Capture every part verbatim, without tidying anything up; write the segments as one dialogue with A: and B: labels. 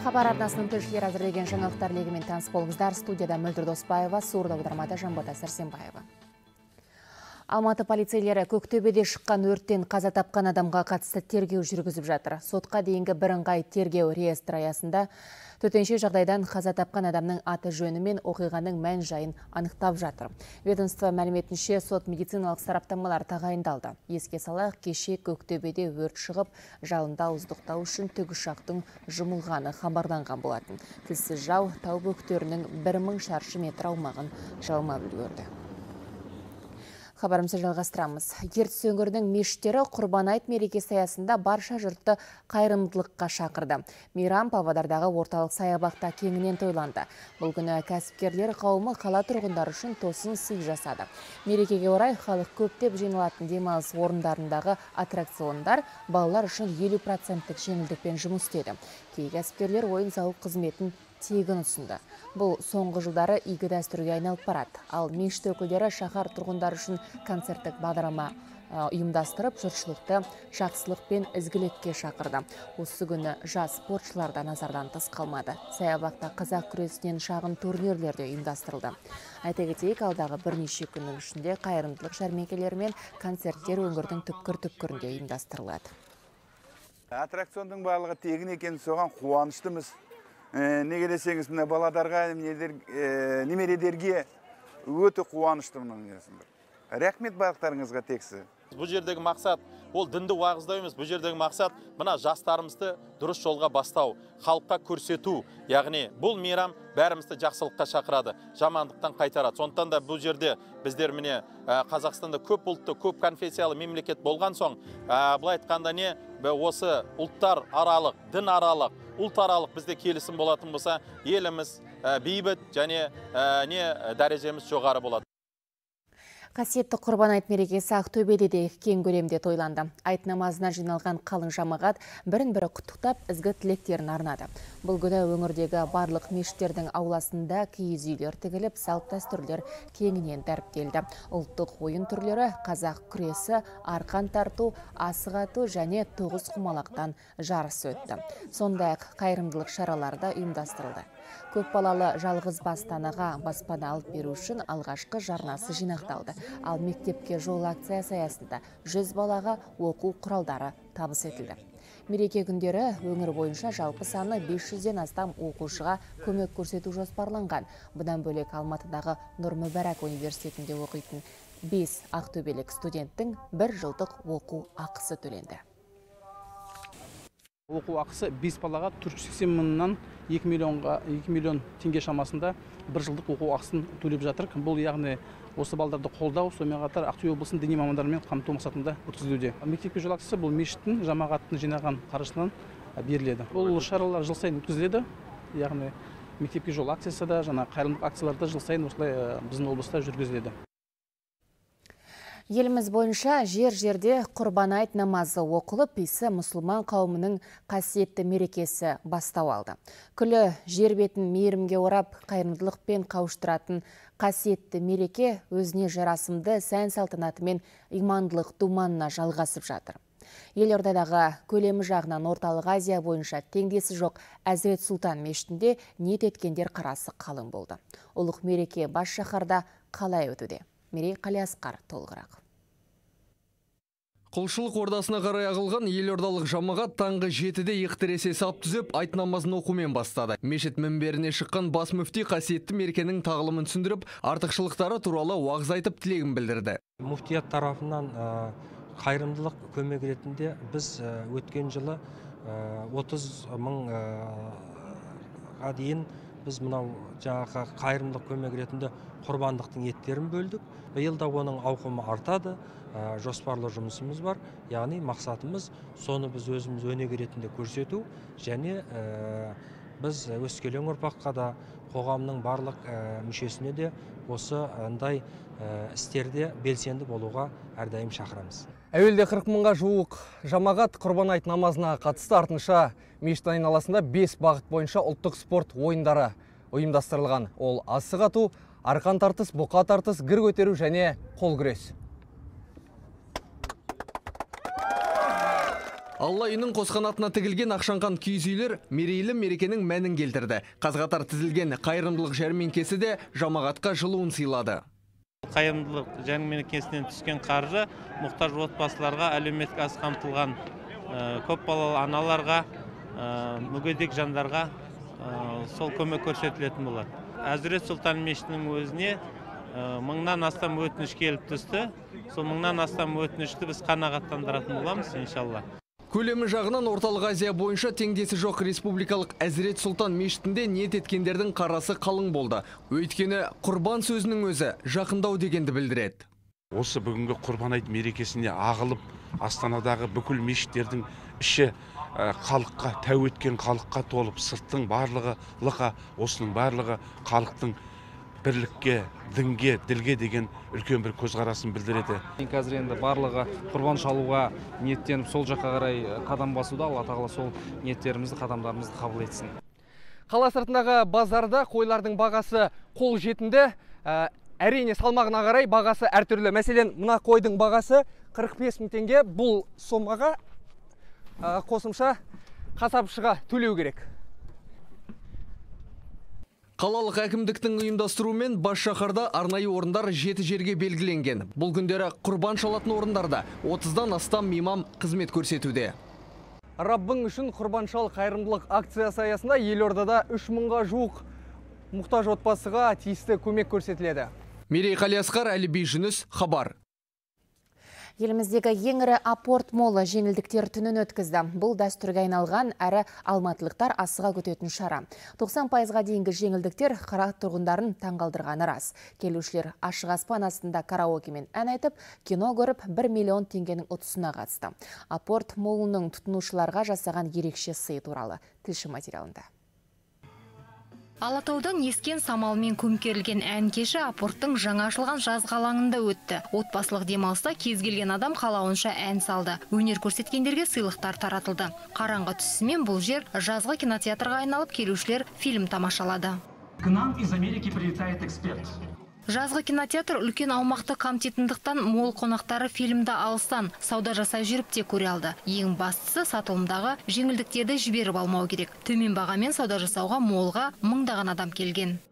A: Хабар арнасының тілшілері әзірлеген жаңалықтар легімен таныс болыңыздар. Студияда Мөлдір Доспаева, сурда аудармада Жанбота Сәрсенбаева. Алматы полицейлері Көктөбеде шыққан өрттен қаза тапқан адамға қатысты тергеу жүргізіп жатыр. Сотқа дейінгі бірыңғай тергеу реестрі аясында төтенше жағдайдан қаза тапқан адамның аты жөні мен оқиғаның мән жайын анықтап жатыр. Ведомство мәліметінше сот медициналық сараптамалар тағайындалды. Еске салайық, кеше Көктөбеде өрт шығып, жалында ауыздықтау үшін тікұшақтың жұмылғаны хабарланған болатын. Тілсіз жау тау бөктерінің бір мың шаршы метр аумағын жалмап үлгерді. Хабарымызды жалғастырамыз. Ертіс өңірінің мешіттері Құрбан айт мерекесі аясында барша жұртты қайырымдылыққа шақырды. Мейрам Павлодардағы орталық саябақта кеңінен тойланды. Бұл күні кәсіпкерлер қауымы қала тұрғындары үшін тосын сый жасады. Мерекеге орай халық көптеп жиналатын демалыс орындарындағы аттракциондар балалар үшін елу проценттік жеңілдікпен жұмыс істеді. Кей кәсіпкерлер ойын-сауық қызметін тегін ұсынды. Бұл соңғы жылдары игі дәстүрге айналып барады. Ал мешіт өкілдері шаһар тұрғындары үшін концерттік бағдарлама ұйымдастырып, жұртшылықты жақсылық пен ізгілікке шақырды. Осы күні жас спортшылар да назардан тыс қалмады. Саябақта қазақ күресінен шағын турнирлер де ұйымдастырылды. Айта кетейік, алдағы бірнеше күннің ішінде қайырымдылық жәрмеңкелері мен концерттер өңірдің түпкір-түпкірінде ұйымдастырылады.
B: Аттракциондың барлығы тегін екен, соған қуаныштымыз. Неге десеңіз, мына баладарға, немередерге өте қуаныштымын. Рахмет барлықтарыңызға тексі.
C: Бұл жердегі мақсат, ол дінді уағыздау емес, бұл жердегі мақсат мына жастарымызды дұрыс жолға бастау, халыққа көрсету. Яғни бұл мейрам бәрімізді жақсылыққа шақырады, жамандықтан қайтарады. Сондықтан да бұл жерде біздер міне Қазақстанда көп ұлтты, көп конфессиялы мемлекет болған соң, бұл айтқанда не, осы ұлттар аралық, дін аралық, ұлт аралық бізде келісім болатын болса, еліміз бейбіт және не дәрежеміз жоғары болады.
A: Қасиетті Құрбан айт мерекесі Ақтөбеде де кең көлемде тойланды. Айт намазына жиналған қалың жамағат бірін-бірі құттықтап, ізгі тілектерін арнады. Бұл күні өңірдегі барлық мешіттердің ауласында киіз үйлер тігіліп, салт дәстүрлер кеңінен дәріптелді. Ұлттық ойын түрлері қазақ күресі, арқан тарту, асық ату және тоғыз құмалақтан жарыс өтті. Сондай-ақ қайырымдылық шаралары да ұйымдастырылды. Көп балалы жалғыз бастанаға баспана алып беру үшін алғашқы жарнасы жинақталды. Ал мектепке жол акциясы аясында жүз балаға оқу құралдары табыс етілді. Мереке күндері өңір бойынша жалпы саны бес жүзден астам оқушыға көмек көрсету жоспарланған. Бұдан бөлек Алматыдағы Нұр Мүбәрак университетінде оқитын бес ақтөбелік студенттің бір жылдық оқу ақысы төленді.
D: Оқу ақысы бес балаға төрт жүз сексен мыңнан екі миллион теңге шамасында бір жылдық оқу ақысын төлеп жатыр. Бұл яғни осы балдарды қолдау, сонымен қатар Ақтөбе облысының діни мамандарымен қамту мақсатында өткізілуде. Мектепке жол ақысы бұл мешіттің жамағаттың жинаған қаржысынан беріледі. Бұл шаралар жыл сайын өткізіледі. Яғни мектепке жол акциясы да, жаңа қайырымдылық акцияларда жыл сайын осылай біздің облыста жүргізіледі.
A: Еліміз бойынша жер-жерде Құрбан айт намазы оқылып, исі мұсылман қауымының қасиетті мерекесі бастау алды. Күлі жер бетін мейірімге орап, қайырымдылықпен қауыштыратын қасиетті мереке өзіне жарасымды сән салтанатымен имандылық думанына жалғасып жатыр. Елордадағы көлемі жағынан Орталық Азия бойынша теңдесі жоқ Әзірет Сұлтан мешітінде ниет еткендер қарасы қалың болды. Ұлық мереке бас шаһарда қалай өтуде? Мерей Қалиасқар толығырақ.
E: Құлшылық ордасына қарай ағылған елордалық жамағат таңғы жетіде иықтіресе сап түзеп айт намазын оқумен бастады. Мешіт мінберіне шыққан бас мүфти қасиетті мерекенің тағылымын түсіндіріп, артықшылықтары туралы уағыз айтып тілегін білдірді.
F: Муфтият тарапынан қайырымдылық көмек ретінде біз өткен жылы отыз мыңға дейін біз мынау жаңағы қайырымдылық көмек ретінде құрбандықтың еттерін бөлдік. Биылда оның ауқымы артады, жоспарлы жұмысымыз бар. Яғни мақсатымыз соны біз өзіміз өнеге ретінде көрсету және біз өскелең ұрпаққа да қоғамның барлық мүшесіне де осы андай істерде белсенді болуға әрдайым шақырамыз.
E: Әуелде қырық мыңға жуық жамағат Құрбан айт намазына қатысты, артынша мешіт айналасында бес бағыт бойынша ұлттық спорт ойындары ұйымдастырылған. Ол асық ату, арқан тартыс, бұқа тартыс, гір көтеру және қол күрес. Алла үйінің қосқанатына тігілген ақшаңқан киіз үйлер мерейлі мерекенің мәнін келтірді. Қаз-қатар тізілген қайырымдылық жәрмеңкесі де жамағатқа жылуын сыйлады.
G: Қайырымдылық жәрмеңкесінен түскен қаржы мұқтаж отбасыларға, әлеуметтік аз қамтылған көп балалы аналарға, мүгедек жандарға сол көмек көрсетілетін болады. Әзірет Сұлтан мешітінің өзіне мыңнан астам өтініш келіп түсті. Сол мыңнан астам өтінішті біз қанағаттандыратын боламыз, иншалла.
E: Көлемі жағынан орталық Азия бойынша теңдесі жоқ республикалық Әзірет Сұлтан мешітінде ниет еткендердің қарасы қалың болды. Өйткені құрбан сөзінің өзі жақындау дегенді білдіреді.
H: Осы бүгінгі құрбан айт мерекесіне ағылып, Астанадағы бүкіл мешіттердің іші халыққа, тәу еткен халыққа толып, сырттың барлығы лықа, осының барлығы халықтың бірлікке, дінге, ділге деген үлкен бір көзқарасын білдіреді.
I: Қазір енді барлығы құрбан шалуға ниеттеніп сол жаққа қарай қадам басуда. Алла тағала сол ниеттерімізді, қадамдарымызды қабыл етсін.
E: Қала сыртындағы базарда қойлардың бағасы қол жетімді. Әрине салмағына қарай бағасы әртүрлі. Мәселен, мына қойдың бағасы қырық бес мың теңге. Бұл сомаға қосымша қасапшыға төлеу керек. Қалалық әкімдіктің ұйымдастыруымен бас шаһарда арнайы орындар жеті жерге белгіленген. Бұл күндері құрбан шалатын орындарда отыздан астам имам қызмет көрсетуде. Раббың үшін құрбан шал қайырымдылық акциясы аясында елордада үш мыңға жуық мұқтаж отбасыға тиісті көмек көрсетіледі. Мерей Қалиасқар, Әліби Жүніс, хабар.
A: Еліміздегі ең ірі апорт молы жеңілдіктер түнін өткізді. Бұл дәстүрге айналған әрі алматылықтар асыға күтетін шара. тоқсан пайызға дейінгі жеңілдіктер қала тұрғындарын таңғалдырғаны рас. Келушілер ашық аспан астында караокемен ән айтып, кино көріп бір миллион теңгенің ұтысына қатысты. Апорт молының тұтынушыларға жасаған ерекше сый туралы тілші материалында.
J: Алатаудан ескен самалмен көмкерілген ән кеші апорттың жаңа ашылған жазғы алаңында өтті. Отбасылық демалыста кез келген адам қалауынша ән салды. Өнер көрсеткендерге сыйлықтар таратылды. Қараңғы түсісімен бұл жер жазғы кинотеатрға айналып, келушілер фильм тамашалады.
K: К нам из Америки прилетает эксперт.
J: Жазғы кинотеатр үлкен аумақты қамтитындықтан мол қонақтары фильмді алыстан сауда жасай жүріп те көре алды. Ең бастысы сатылымдағы жеңілдіктерді жіберіп алмау керек. Төмен бағамен сауда жасауға молға мыңдаған адам келген.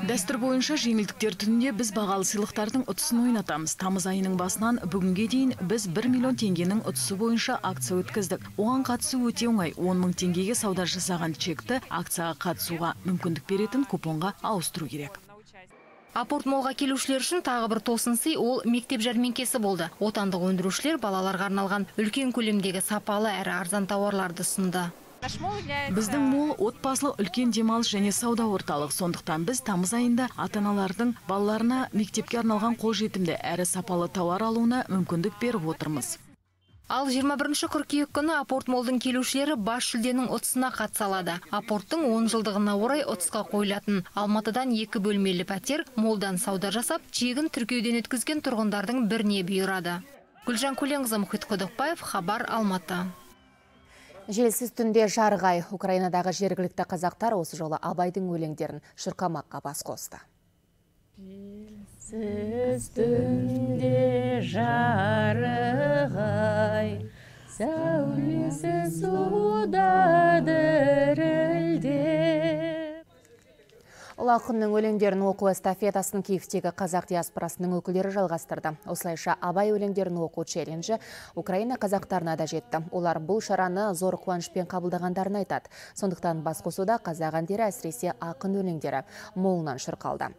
L: Дәстүр бойынша жеңілдіктер түнінде біз бағалы сыйлықтардың ұтысын ойнатамыз. Тамыз айының басынан бүгінге дейін біз бір миллион теңгенің ұтысы бойынша акция өткіздік. Оған қатысу өте оңай. он мың теңгеге сауда жасаған чекті акцияға қатысуға мүмкіндік беретін купонға ауыстыру керек.
J: Апорт молға келушілер үшін тағы бір тосын сый ол мектеп жәрмеңкесі болды. Отандық өндірушілер балаларға арналған үлкен көлемдегі сапалы әрі арзан тауарларды ұсынды.
L: Біздің мол отбасылық үлкен демалыс және сауда орталық. Сондықтан біз тамыз айында ата-аналардың балаларына мектепке арналған қолжетімді әрі сапалы тауар алуына мүмкіндік беріп отырмыз.
J: Ал жиырма бірінші қыркүйек күні апорт молдың келушілері бас жүлденің ұтысына қатыса алады. Апорттың он жылдығына орай ұтысқа қойылатын Алматыдан екі бөлмелі пәтер молдан сауда жасап, чегін тіркеуден өткізген тұрғындардың біріне бұйырады. Гүлжан Көленқызы, Мұхит Құдықбаев, хабар, Алматы.
A: Желсіз түнде жарғай. Украинадағы жергілікті қазақтар осы жолы Абайдың өлеңдерін шырқамаққа бас қосты.
M: Желсіз түнде жарғай, сәулесі суда дірілдеп.
A: Ұлы ақынның өлеңдерін оқу эстафетасын Киевтегі қазақ диаспорасының өкілдері жалғастырды. Осылайша Абай өлеңдерін оқу челленджі Украина қазақтарына да жетті. Олар бұл шараны зор қуанышпен қабылдағандарын айтады. Сондықтан басқосуда қазақ әндері, әсіресе ақын өлеңдері молынан шырқалды.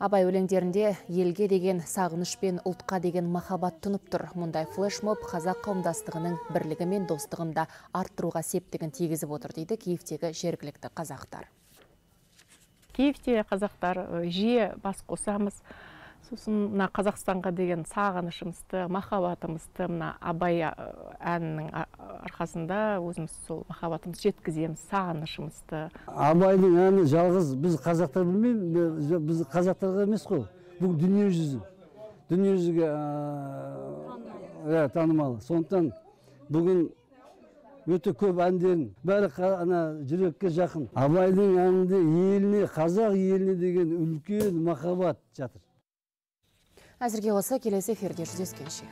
A: Абай өлеңдерінде елге деген сағыныш пен ұлтқа деген махаббат тұнып тұр. Мұндай флешмоб қазақ қауымдастығының бірлігі мен достығын да арттыруға септігін тигізіп отыр дейді Киевтегі жергілікті қазақтар.
N: Киевте қазақтар жиі бас қосамыз. Сосын Қазақстанға деген сағынышымызды, махаббатымызды Абай әнінің арқасында өзіміз сол махаббатымыз жеткіземіз, сағынышымызды.
O: Абайдың әні жалғыз біз қазақтар білмейміз, біз қазақтарға емес қой. Бұл дүние жүзі. Дүние жүзіге танымалы. Сондықтан бүгін өте көп әндерін, бәрі жүрекке жақын. Абайдың әнінде еліне, қазақ еліне деген үлкен махаббат жатыр.
A: Әзірге осы, келесі эфирде жүздескенше.